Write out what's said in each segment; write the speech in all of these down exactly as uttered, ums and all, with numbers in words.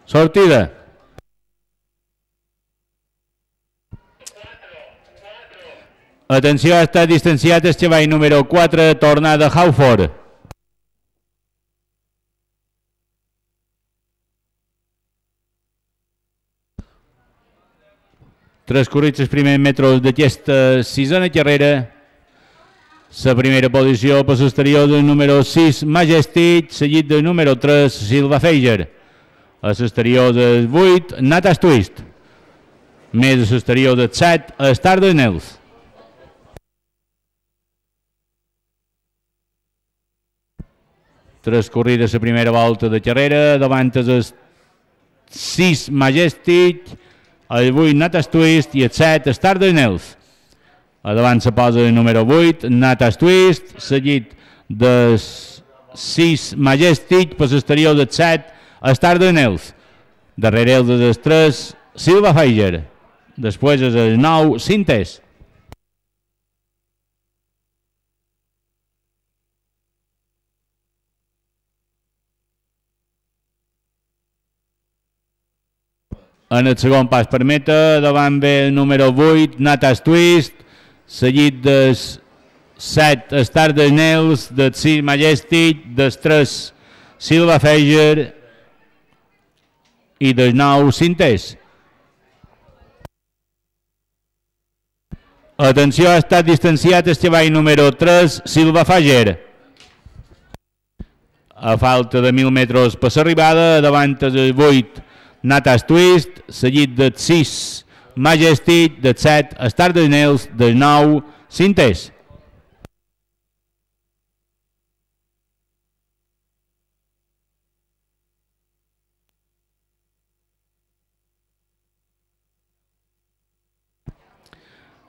Sortida. Atenció, ha estat distanciat el xavall número quatre, Tornada Hauford. Transcorrits els primers metres d'aquesta sisena carrera. La primera posició per l'exterior del número sis, Majestic, seguit del número tres, Silva Feiger. A l'exterior del vuit, Natas Twist. Més a l'exterior del set, Star de Nels. Transcorrida la primera volta de carrera, davant el sis, Majestic, el vuit, Natas Twist i el set, Star de Nels. A davant se posa el número vuit, Natas Twist, seguit del sis, Majestic, per l'exterior del set, Star de Nels. Darrere el del tres, Silva Feiger. Després és el nou, Sintes. En el segon pas per meta, davant ve el número vuit, Natas Twist, seguit del set, Star de Nels, del sis, Majestic, del tres, Silva Feiger i del nou, Sintes. Atenció, ha estat distanciat el xavall número tres, Silva Feiger. A falta de mil metres per l'arribada, davant del vuit, Natas Twist, seguit del sis, Majestic, del set, Star de Nels, del nou, Sintes.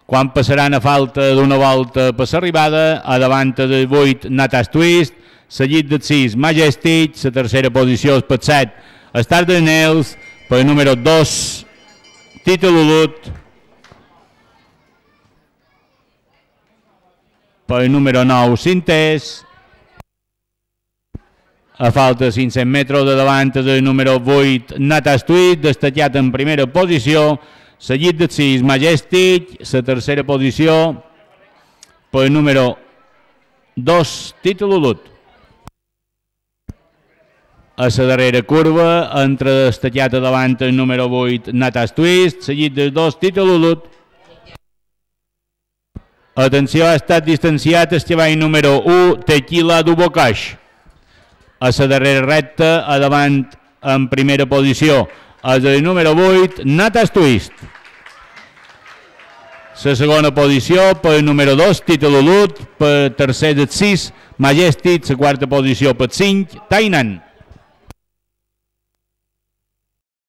Quan passaran a falta d'una volta per l'arribada, a davant del vuit, Natas Twist, seguit del sis, Majestic, la tercera posició és per set, Star de Nels, per número dos, Títol Ulut, per número nou, Sintes. A falta de cinc-cents metres de davant del número vuit, Natas Twist, destacat en primera posició, seguit del sis, Majestic, la tercera posició, per número dos, Títol Ulut. A la darrera curva, entra destacat a davant el número vuit, Natas Twist, seguit del dos, Títol Ulut. Atenció, ha estat distanciat el xavall número u, Tequila Dubocaix. A la darrera recta, a davant en primera posició, és el número vuit, Natas Twist. La segona posició per número dos, Títol Ulut, per tercer del sis, Majestic, la quarta posició per cinc, Tainan.